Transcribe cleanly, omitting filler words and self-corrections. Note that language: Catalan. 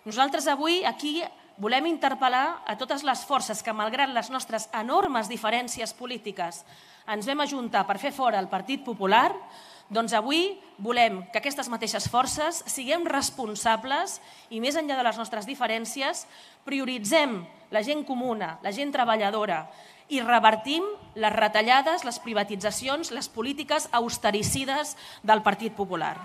Nosaltres avui aquí volem interpel·lar a totes les forces que, malgrat les nostres enormes diferències polítiques, ens vam ajuntar per fer fora el Partit Popular. Doncs avui volem que aquestes mateixes forces siguem responsables i, més enllà de les nostres diferències, prioritzem la gent comuna, la gent treballadora i revertim les retallades, les privatitzacions, les polítiques austericides del Partit Popular.